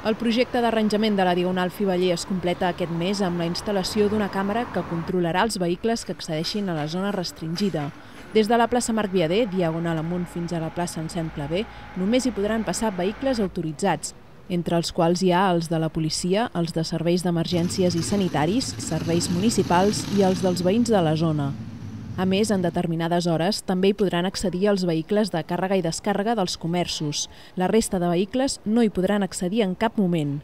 El projecte d'arranjament de la Diagonal Fiveller es completa aquest mes amb la instal·lació d'una càmera que controlarà els vehicles que accedeixin a la zona restringida. Des de la plaça Marc Viader, diagonal amunt fins a la plaça Anselm Clavé, només hi podran passar vehicles autoritzats, entre els quals hi ha els de la policia, els de serveis d'emergències i sanitaris, serveis municipals i els dels veïns de la zona. A més, en determinades hores, també hi podran accedir els vehicles de càrrega i descàrrega dels comerços. La resta de vehicles no hi podran accedir en cap moment.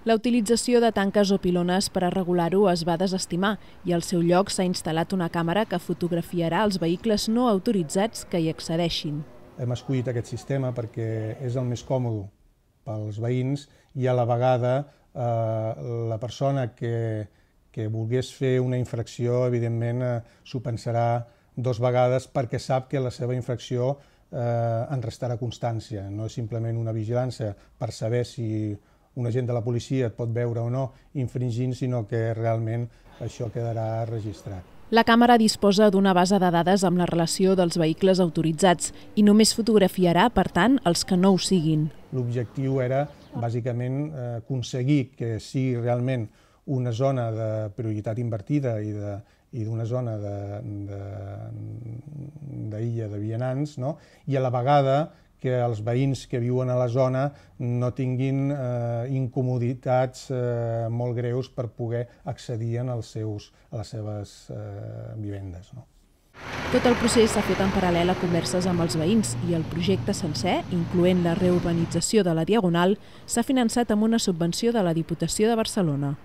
La utilització de tanques o pilones per a regular-ho es va desestimar i al seu lloc s'ha instal·lat una càmera que fotografiarà els vehicles no autoritzats que hi accedeixin. Hem escollit aquest sistema perquè és el més còmode pels veïns i a la vegada la persona que volgués fer una infracció, evidentment, s'ho pensarà dues vegades perquè sap que la seva infracció en restarà constància. No és simplement una vigilància per saber si un agent de la policia et pot veure o no infringint, sinó que realment això quedarà registrat. La càmera disposa d'una base de dades amb la relació dels vehicles autoritzats i només fotografiarà, per tant, els que no ho siguin. L'objectiu era, bàsicament, aconseguir que sigui realment una zona de prioritat invertida i d'una zona d'illa de vianants, no? I a la vegada que els veïns que viuen a la zona no tinguin incomoditats molt greus per poder accedir a les seves vivendes. Tot el procés s'ha fet en paral·lel a converses amb els veïns i el projecte sencer, incloent la reurbanització de la Diagonal, s'ha finançat amb una subvenció de la Diputació de Barcelona.